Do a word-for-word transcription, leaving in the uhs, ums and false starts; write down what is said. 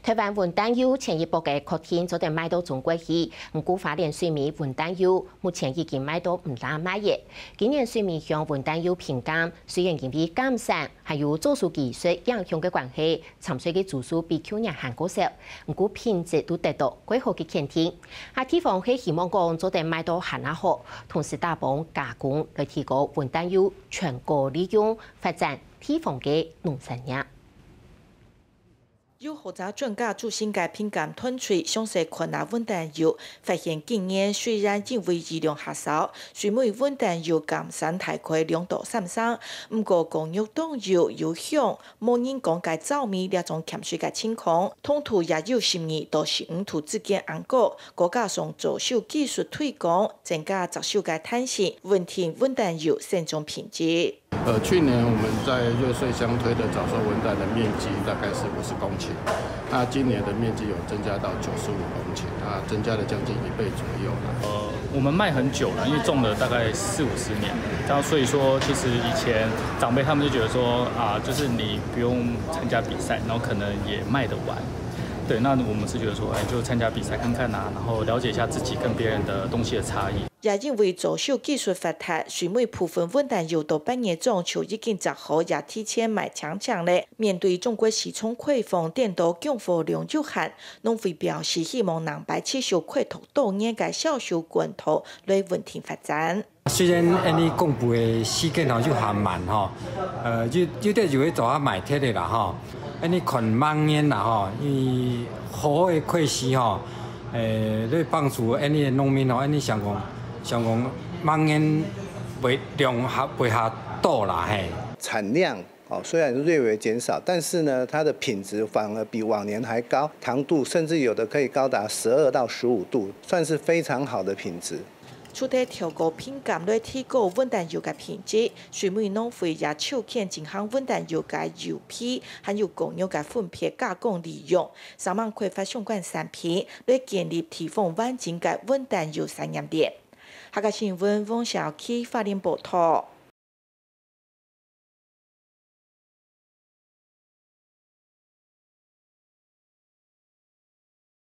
臺灣溫蛋油前一駁个確定做得賣到中國去，毋過花蓮水米溫蛋油目前已經賣到毋罅賣了。今年水米鄉溫蛋油平減，雖然因為減產還有早收技術影響个關係，參賽个組數比舊年還過少，毋過品質都得到較好个肯定。啊地方係希望講做得賣到還較好，同時打幫加工來提高溫蛋油全國利用，發展地方个農產業。 有學者專家做成个品鑑團隊詳細看啊溫蛋油，發現今年雖然因為雨量較少，水米溫蛋油減產大概兩到三成，毋過果肉當幼、有香，無人講个燥味這種欠水个情況，糖度也有十二到十五度之間恁高，再加上左手技術推廣，增加接受个彈性，穩定溫蛋油生長品質。 呃，去年我們在瑞穗鄉推的早收溫蛋的面積大概是五十公頃，那今年的面積有增加到九十五公頃，那增加了將近一倍左右啦。呃，我們賣很久了，因為種了大概四五十年了，然後所以說，其實以前長輩他們就覺得說啊，就是你不用參加比賽，然後可能也賣得完。對，那我們是覺得說，哎，就參加比賽看看啊，然後了解一下自己跟別人的東西的差異。 也因為左手技術發達，水米部分溫蛋油到八月中就已經摘好，也提前賣淨淨了。面對中國市場開放，顛倒供貨量有限，農會表示希望能擺持續開拓多元个銷售管道來穩定發展。雖然恁呢公布个時間吼有限慢吼，呃，有有兜有去做下賣忒个啦吼，恁呢看明年啦吼，因為好个開始吼，誒，來幫助恁呢農民吼，恁呢想講 想講明年會量較會較多啦，嘿。產量哦，雖然略微減少，但是呢，它的品質反而比往年還高，糖度甚至有的可以高達十二到十五度，算是非常好的品質。除忒調高品鑑來提高溫蛋油个品質，水米農會也籌建進行溫蛋油个油皮，還有果肉个分別加工利用，希望開發相關產品，來建立地方完整个溫蛋油產業鏈。 客家新聞黃小琪花蓮報導。